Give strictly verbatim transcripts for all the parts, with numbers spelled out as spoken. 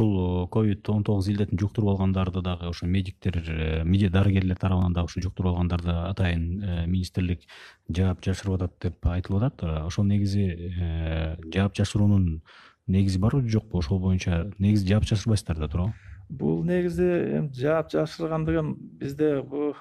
ушул ковид он тогуз илдетин жуктуруп алгандарды дагы ошо медиктер, медиа дарыгерлер тарабынан дагы ушу жуктуруп алгандарды атайын министрлик жаап жашырып атат деп айтылып атат. Ошол негизи жаап жашыруунун негизи барбы жокпу? Ошол боюнча негизи жаап жашырбайсыздар да туурабы? Бул негизи эми жаап жашырган деген бизде бул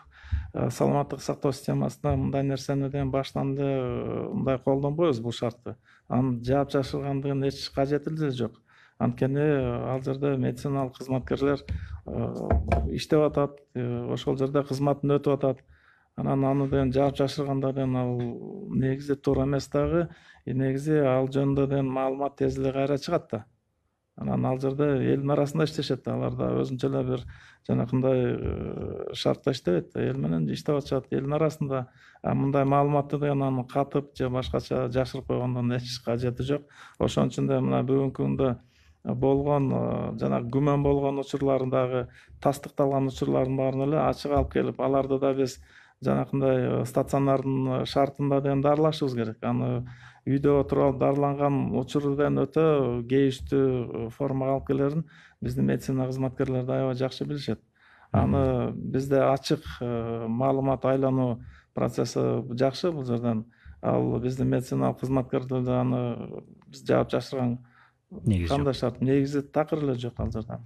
саламаттык сактоо системасында мындай нерсени деген баштан эле мындай колдонбойбуз бул шартты. Анын жаап жашыргандыгынын эч кажети деле жок. Анткени ал жерде медициналык кызматкерлер иштеп атат, ошол жерде кызматын өтүп атат. Анан аны деген жаап жашырганда деген ал негизи туура эмес дагы. Негизи ал жөнүндө деген маалымат тез эле кайра чыгат да. Анан ал жерде элдин арасында иштешет. Алар да өзүнчө эле бир жанакындай шартта иштебейт. Эл менен иштеп атышат элдин арасында. А мындай маалыматты деген аны катып же башкача жашырып койгондон эч кажети жок. Ошон үчүн да мына бүгүнкү күндө болгон жана күмөн болгон учурлардагы тастыкталган учурлардын баарын эле ачык алып келип, аларды да биз жанакындай стационардын шартында деген дарылашыбыз керек. Аны үйдө отуруп алып дарыланган учурден өтө кейиштүү формага алып келерин биздин медицина кызматкерлери да аябай жакшы билишет. Аны бизде ачык маалымат айлануу процесси жакшы бул жерден. Ал биздин медициналык кызматкерлер да аны биз жаап жашырган кандай шарт негизи такыр эле жок ал жерде.